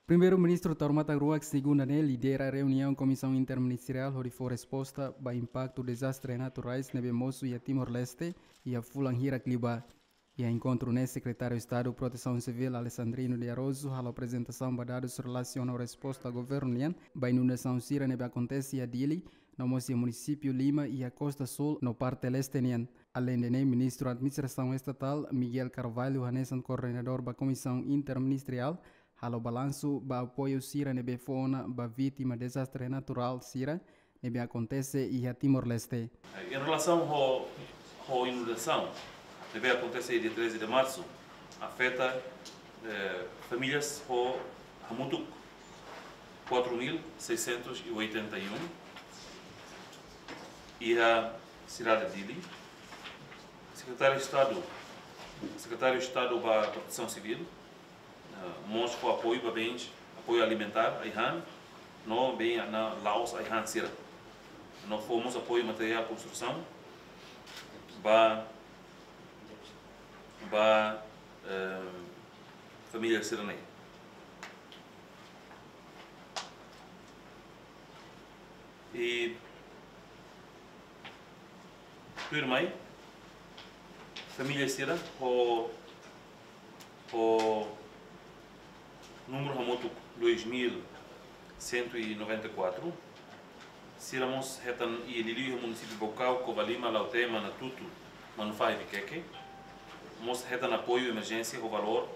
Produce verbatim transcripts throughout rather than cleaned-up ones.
Primeiru-Ministru Taur Matan Ruak, segunda ne'e, lidera reuniaun Komisaun Interministeriál hodi fó resposta ba impaktu dezastre naturais ne'ebé mosu iha Timor-Leste iha fulan hirak liubá. Iha enkontru ne'e, Sekretáriu Estadu Protesaun Sivíl, Alexandrino de Araújo, halo aprezentasaun ba dadus relasiona ho resposta governu nian ba inundasaun sira ne'ebé akontese iha Dili, no mós iha munisípiu lima iha kosta súl no parte leste nian. Aleinde ne'e, Ministru Administrasaun Estatál, Miguel Carvalho, hanesan koordenadór ba Komisaun Interministeriál, halo balansu ba apoiu sira ne'ebé fó ona ba vítima dezastre naturál sira ne'ebé akontese iha Timor-Leste. Em relação ao, ao inundação, ne'ebé akontese dia treze de março, afeta, eh, famílias ho hamutuk quatro mil seiscentos e oitenta e um. Iha sidade Dili, Sekretáriu Estadu, Sekretáriu Estadu ba Protesaun Sivíl, eh, mós fó apoiu ba bens, apoiu alimentár, ai-han, no bens no la'ós ai-han sira. No fó mós apoiu materiál konstrusaun ba, ba, eh, família sira-ne'e. I tuirmai, família sira ho, ho númeru hamutuk dois mil cento e noventa e quatro, sira mós hetan iha liuliu iha munisípiu Baucau, Covalima, Lautém, Manatuto, Manufahi, Viqueque. Mós hetan apoiu emerjénsia ho valór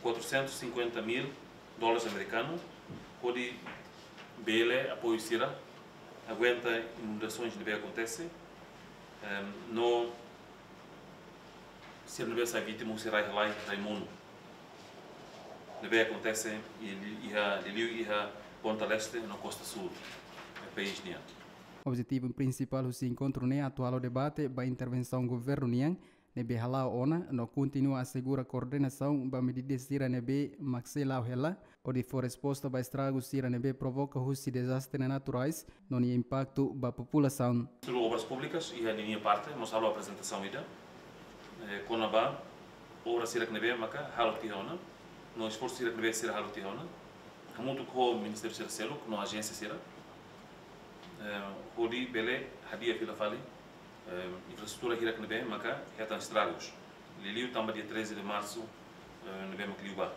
quatrocentos e cinquenta mil dólares amerikanu, hodi bele apoiu sira aguenta inundasoens ne'ebé akontese, em, no sira ne'ebé sai vítima husi rai-halai, rai-monu ne'ebé akontese i li-, iha, liuliu iha ponta leste no kosta súl, eh, país nian. Objetivu prinsipál husi enkontru ne'e atu halo debate ba intervensaun governu nian ne'ebé hala'o ona no kontinua asegura koordenasaun ba medida sira ne'ebé mak sei la'o hela, hodi fó resposta ba estragu sira ne'ebé provoka husi dezastre naturais no nia impaktu ba populasaun. Ministru Obras Públikas iha ninia parte mós halo aprezentasaun ida, eh, kona-ba obra sira ne'ebé maka halo tiha ona, no esforsu sira ne'ebé sira halo tiha ona, hamutuk ho ministériu sira seluk no ajénsia sira, eh, hodi bele hadi'a fila fali, eh, infraestrutura hirak ne'ebé maka hetan estragus. Liuliu tanba dia treze de março, eh, ne'ebé mak liubá.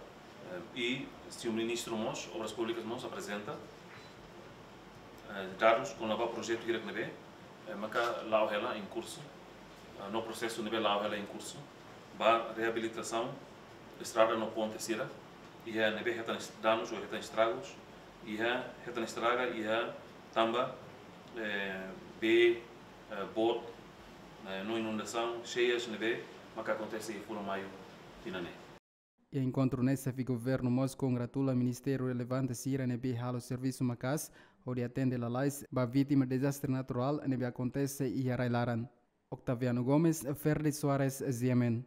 Eh, i señór ministru mós, Obras Públikas mós aprezenta, eh, dadus kona-ba projetu hirak ne'ebé, eh, maka la'o hela em curso, eh, no prosesu ne'ebé la'o hela em curso ba reabilitasaun estrada no ponte sira, iha ne'ebé hetan est-, danus ou hetan estragus, iha hetan estraga, iha tanba, eh, bee, eh, boot, eh, no inundasaun, xeias ne'ebé maka akontese iha fulan Maiu tinan ne'e. Iha enkontru ne'e, xefe governu mós kongratula ministériu relevante sira ne'ebé halo servisu maka'as hodi atende lalais ba vítima dezastre naturál ne'ebé akontese iha rai-laran. Octaviano Gomes, Ferdi Soares, G M N.